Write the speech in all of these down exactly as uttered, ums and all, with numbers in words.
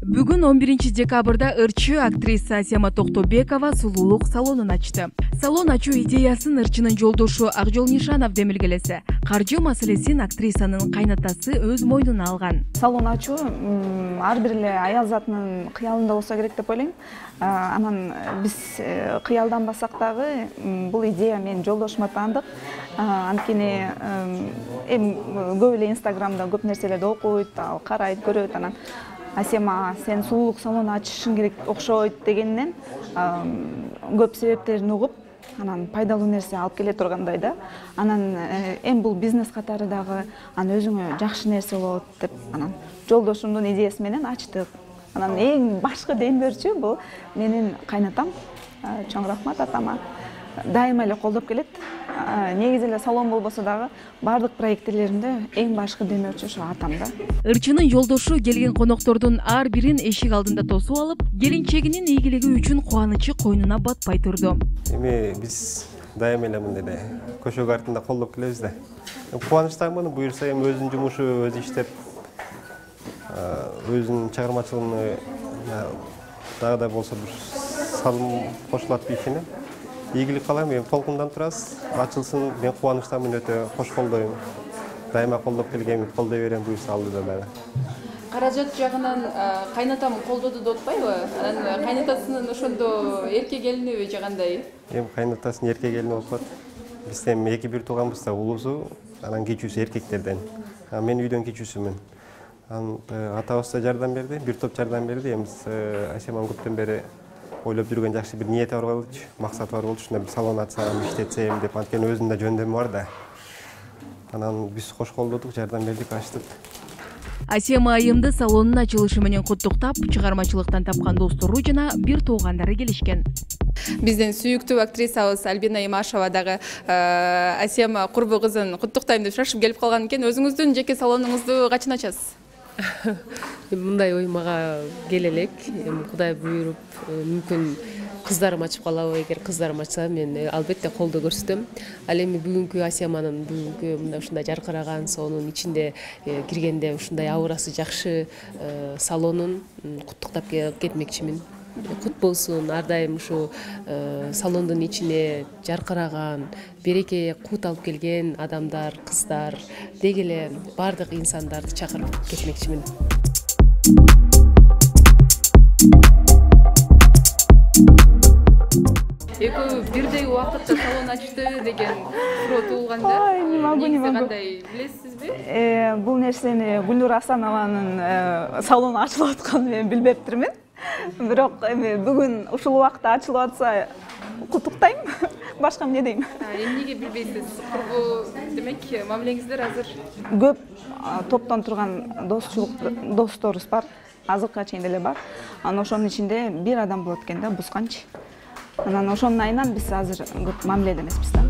Бүгүн он биринчи декабрда ырчы актриса Асема Токтобекова сулуулук салонун ачты. Салон ачуу идеясын ырчынын жолдошу Акжол Нишанов демилгелесе, каржы маселесин актрисанын кайнатасы өз мойнуна алган. Салон ачуу ар бир эле аял затынын кыялында болсо керек деп ойлойм. Анан биз кыялданбасак дагы бул идея менин жолдошума таандык. Анткени эми көп эле Инстаграмда көп нерселерди окуйт, ал карайт, көрөт. Анан Асема, сен сулуулук салону ачышың керек окшойт дегеннен көп себептерин угуп, анан пайдалуу нерсе алып келе тургандай да. Анан эми бул бизнес катары дагы анан өзүңө жакшы нерсе болот деп анан жолдошумдун идеясы менен ачтык. Анан эң башкы дембөрчү бул менин кайнатам. Чоң рахмат атама. Дайыма эле колдоп келет. Негизи эле салон болбосо дагы бардык проектлеримде эң башкы демөөрчү ошо атам да. Ырчынын жолдошу келген коноктордун ар бирин эшик алдында тосуп алып, келинчегинин ийгилиги үчүн кубанычы койнуна батпай турду. Эми биз дайыма эле мындай эле көчөгө артында колдоп келебиз да. Кубанычтамын, буюрса эми өзүнүн жумушу өзү иштеп, өзүнүн чыгармачылыгына дагы да болсо бир салым кошулат ишине. Ийгилик каалайм, эми толкундан турасыз, ачылсын, мен кубанычтамын, өтө кош колдойм. Дайыма колдоп келгем, колдой берем буюрса алдыда дагы. Каражат жагынан кайнатам колдоду деп атпайбы? Анан кайнатасынын ошондо эрке келиниби же кандай? Эми кайнатасынын эрке келини болуп калат. Биз эми эки бир тууганбыз да, улуусу, анан кичүүсү эркектерден. Мен үйдөн кичүүсүмүн. Анан атабыз да жардам берди, бир топ жардам берди. Эми Асеманын көптөн бери ойлоп жүргөн жакшы бир ниети бар болчу, максаты бар болчу, ушундай бир салон ачсам, иштетсем деп, анткени өзүнүн да жөндөмү бар да. Анан биз кош колдодук, жардам бердик, ачтык. Асема айымды салонун ачылышы менен куттуктап, чыгармачылыктан тапкан достору жана бир туугандары келишкен. Биздин сүйүктүү актрисабыз Альбина Имашева дагы Асема курбу кызын куттуктайм деп шашып келип калган экен. Өзүңүздүн жеке салонуңузду качан ачасыз? Мындай ой мага келе элек. Эми Кудай буйруп, мүмкүн кыздарым ачып калабы, эгер кыздарым ачса, мен албетте колдоо көрсөтөм. Ал эми бүгүнкү Асеманын бүгүнкү мындай ушундай жаркыраган, сонун ичинде киргенде ушундай аурасы жакшы салонун куттуктап кетмекчимин. Кут болсун, ар дайым ушу салондун ичине жаркыраган, береке, кут алып келген адамдар, кыздар, деги эле бардык инсандарды чакырып кетмекчимин. Экөө бирдей убакытта салон ачты деген суроо туулганда, негизи кандай билесизби? Бул нерсени Гүлнур Асанованын салону ачылып атканын мен билбептирмин. Бирок эми бүгүн ушул убакта ачылып атса куттуктайм. Башка эмне дейм? Эмнеге билбейсиз? Курбу демек мамилеңиздер азыр көп топтон турган достчулук досторубуз бар. Азыркыга чейин деле бар. Анан ошонун ичинде бир адам болот экен да, Бусканчы. Анан ошонун айынан биз азыр көп мамиледе эмеспиз да.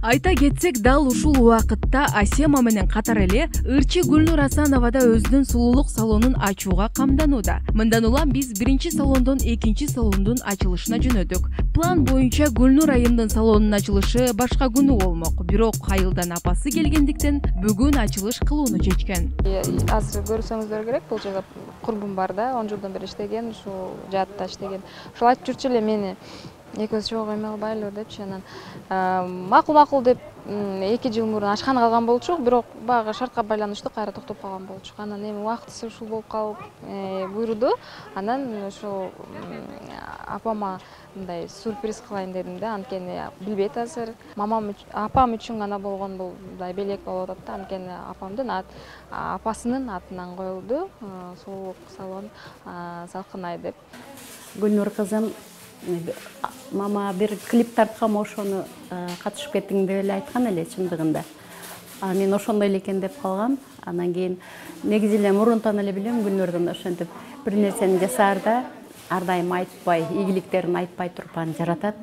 Айта кетсек, дал ушул убакытта Асема менен катар эле ырчы Гүлнур Асанова да өзүнүн сулуулук салонун ачууга камданууда. Мындан улам биз биринчи салондон экинчи салондун ачылышына жөнөдүк. План боюнча Гүлнур айымдын салонунун ачылышы башка күнү болмок. Бирок айылдан апасы келгендиктен бүгүн ачылыш кылууну чечкен. Азыр көрсөңүздөр керек, бул жерде курбум бар да, он жылдан бери иштеген, ушул жаатта иштеген. Ошол айтып жүрчү эле мени экөөбүз чогуу эме кылбайлыбы депчи, анан макул-макул деп эки жыл мурун ачкан калган болчук, бирок баягы шартка байланыштуу кайра токтоп калган болчук. Анан эми убактысы ушул болуп калып буйруду. Анан ошол апама мындай сюрприз кылайын дедим да, анткени билбейт азыр. Мамам апам үчүн гана болгон бул мындай белек болуп атат да, анткени апамдын апасынын атынан коюлду. Сулуулук салон Салкынай деп. Гүлнур кызым, мама бир клип тарткам, ошону катышып кеттиң деп эле айткан эле чындыгында. Мен ошондой эле экен деп калгам. Анан кийин негизи эле мурунтан эле билем Гүлнурдун ошентип бир нерсени жасаарда ар дайым айтпай, ийгиликтерин айтпай туруп аны жаратат.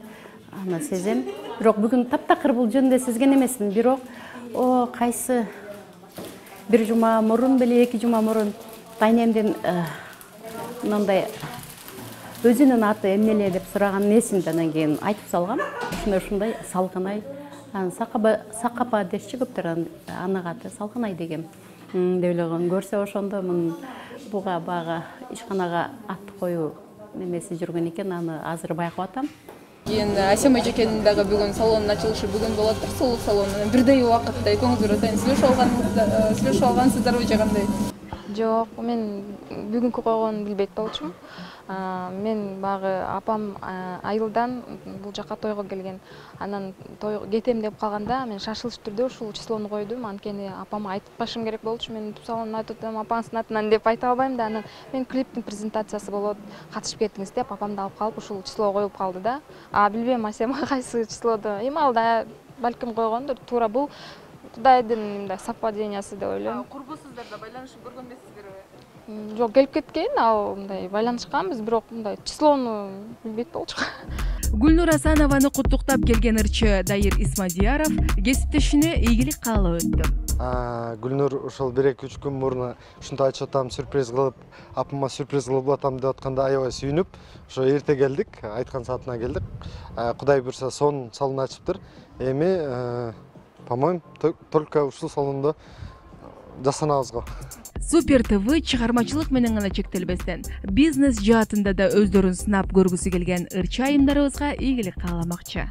Аны сезем. Бирок бүгүн таптакыр бул жөнүндө сезген эмесмин. Бирок о кайсы бир жума мурун беле эки жума мурун тайнемден мындай өзүнүн аты эмне эле деп сураганын эсимде, анан кийин айтып салгам. Ушундай ушундай Салкынай. Анан Сакапа Сакапа дешчи көптөр анын аты Салкынай дегем. Деп эле көрсө ошондо мун буга бага ишканага ат коюу немеси жүргөн экен, аны азыр байкап атам. Кийин Асем эжекенин дагы бүгүн салонунун ачылышы бүгүн болот, сулуулук салону. Бирдей убакытта экөөңүздөр атайын сүйлөшүп алгансыздар, сүйлөшүп алгансыздарбы же кандай? Жок, мен бүгүнкү койгонун билбейт болчумун. Мен багы апам айылдан бул жака тойго келген. Анан той кетем деп калганда мен шашылыш түрдө ушул числону койдум. Анткени апама айтып калышым керек болчу. Мен тупсалонун айтып атам, апаңыздын атынан деп айта албайм да. Анан мен клиптин презентациясы болот, катышып кетиңиз деп апамды алып калып ушул число коюп калды да. А билбейм Асем кайсы числодо. Эми алда балким койгондур. Туура бул Кудайдын мындай совпадениясы деп ойлойм. Курбусуздар да байланышып көргөн эмессиздерби? Жок, келип кеткен, ал мындай байланышканбыз, бирок мындай числону билбейт болчук. Гүлнур Асанованы куттуктап келген ырчы Дайыр Исмадияров кесиптешине ийгилик каалап өттү. Гүлнур ошол бир эки үч күн мурун ушундай айтып атам, сюрприз кылып, апама сюрприз кылып атам деп атканда аябай сүйүнүп, ошо эрте келдик, айткан саатына келдик. Кудай буйрса сонун салон ачыптыр. Эми по-моему, только ушул салондо жасанабыз го. Супер ТВ чыгармачылык менен гана чектелбестен, бизнес жаатында да өздөрүн сынап көргүсү келген ырчы айымдарыбызга ийгилик кааламакчы.